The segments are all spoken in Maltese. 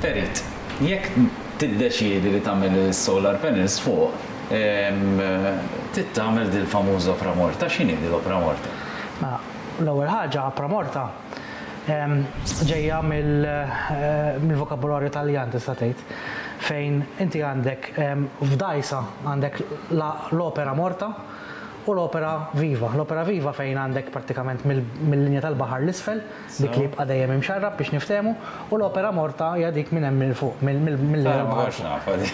Perit, jekk tiddeċiedi li tagħmel is-solar panels fuq, trid tagħmel dil-famuża opra morta. X'inhi dil-opra morta? Mela, l-ewwel ħaġa opra morta ġejja mill-vokabularju Taljan tista' tgħid, fejn inti għandek f'dgħajsa għandek l-opera morta u l-opera viva. L-opera viva fejn għandek prattikament mill-linja tal-baħar 'l isfel, dik li jibqa' dejjem imxarrab biex niftehmu, u l-opera morta hija dik minn hemm 'il fuq, mill-linja tal-baħar. Ma kontx nafha din.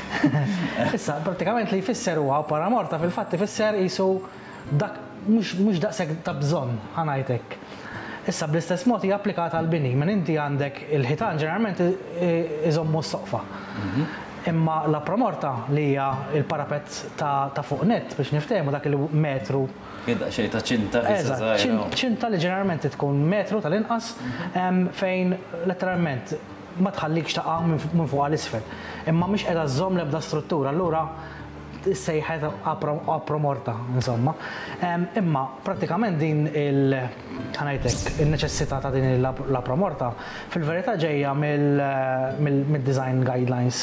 Issa, prattikament li jfisser huwa opera morta fil-fatt ifisser qisu dak mhux daqshekk ta' bżonn, ħa ngħid hekk. Issa bl-istess mod hija applikata għall-bini, minn inti għandek il-ħitan ġeneralment iżommu s-soqfa. Imma l-opra morta li hija l-parapett ta' fuq nett biex niftehmu dak il-metru. Hi daqsxejn ta' ċinta qisha żgħira. Eżatt, ċinta li ġeneralment tkun metru tal-inqas fejn letteralment ma tħallikx taqa' minn fuq għal isfel. Imma mhix qiegħda żżomm l-ebda struttura, allura issejħet opra morta, insomma. Imma prattikament din il, ħa ngħid hekk, in-neċessità ta' din l-opra morta fil-verità ġejja mid-design guidelines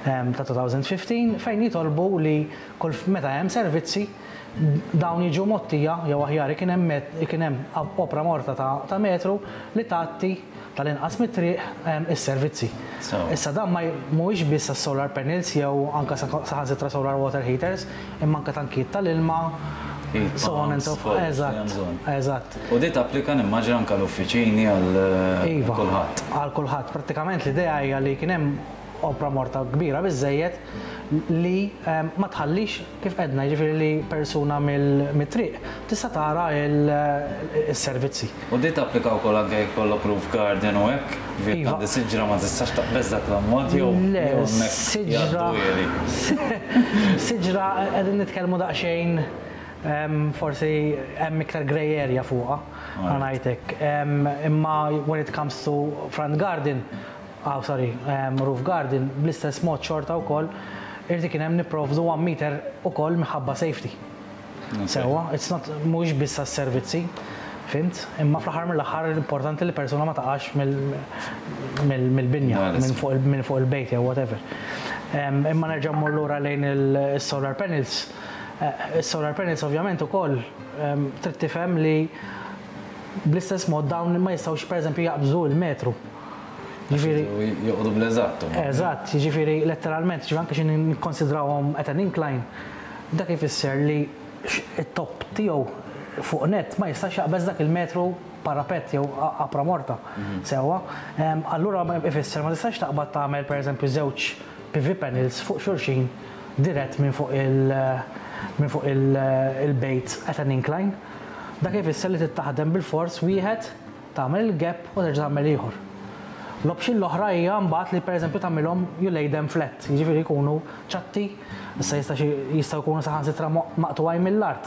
ta' 2015 fejn jitolbu li kull meta hemm servizzi dawn jiġu mgħottija jew aħjar ikun hemm ikun hemm opra morta ta' metru li tgħatti tal-inqas mit-triq is-servizzi. Issa dan ma mhuwiex biss għas-solar panels jew anke saħansitra solar water heaters, imma anke tankijiet tal-ilma, so on and so forth. Eżatt, eżatt. U di tapplika nimmaġina anke għall-uffiċini għal kulħadd. Iva, għal kulħadd. Prattikament l-idea hija li kien hemm opra morta kbira biżżejjed li ma tħallix, kif għedna, jiġifieri li persuna mit-triq tista' tara s-servizzi. U di tapplika wkoll anke jekk ikollok roof garden u hekk? Jiġifieri jekk għandi siġra ma tistax taqbeż dak l-ammont jew hemmhekk jgħaddu Le, siġra qegħdin nitkellmu daqsxejn forsi hemm iktar grey area fuqha, ħa ngħid hekk. Imma when it comes to front garden, Aw, sorry, roof garden, bl-istess mod xorta wkoll irid ikun hemm nipprovdu one meter ukoll minħabba safety. Sewwa, it's not mhuwiex biss għas-servizzi, fhimt? Imma fl-aħħar mill-aħħar importanti li persuna ma taqax mill-binja, minn fuq il-bejt jew whatever. Imma nerġa' mmur lura lejn is-solar panels. Is-solar panels ovvjament ukoll trid tifhem li bl-istess mod dawn ma jistgħux pereżempju jaqbżu l-metru. Jiġifieri. Joqogħdu bl-eżatt huma. Eżatt, jiġifieri letteralment, jiġifieri anke xi nikkonsidrawhom at an incline, dak ifisser li t-top tiegħu fuq nett ma jistax jaqbeż dak il-metru parapett jew apra morta. Sewwa? Allura ifisser ma tistax taqbad tagħmel pereżempju żewġ PV panels fuq xulxin dirett minn fuq il minn fuq il-bejt at an incline. Dak ifisser li trid taħdem bilfors wieħed Tagħmel il-gap u terġa' tagħmel ieħor. L-option l-oħra hija mbagħad li pereżempju tagħmilhom you lay them flat, jiġifieri jkunu ċatti, issa jista' xi jistgħu jkunu saħansitra maqtugħin mill-art.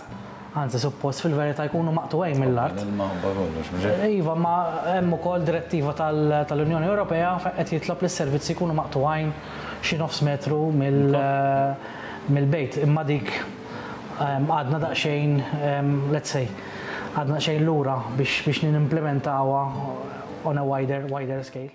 Anzi suppost fil-verità jkunu maqtugħin mill-art. L-ilma u kollox, mhux hekk? Iva, ma hemm ukoll direttiva tal-Unjoni Ewropea fejn qed jitlob li s-servizzi jkunu maqtugħin xi nofs metru mill-bejt. Imma dik għadna daqsxejn, let's say, għadna daqsxejn lura biex biex nimplimentawha on a wider wider scale.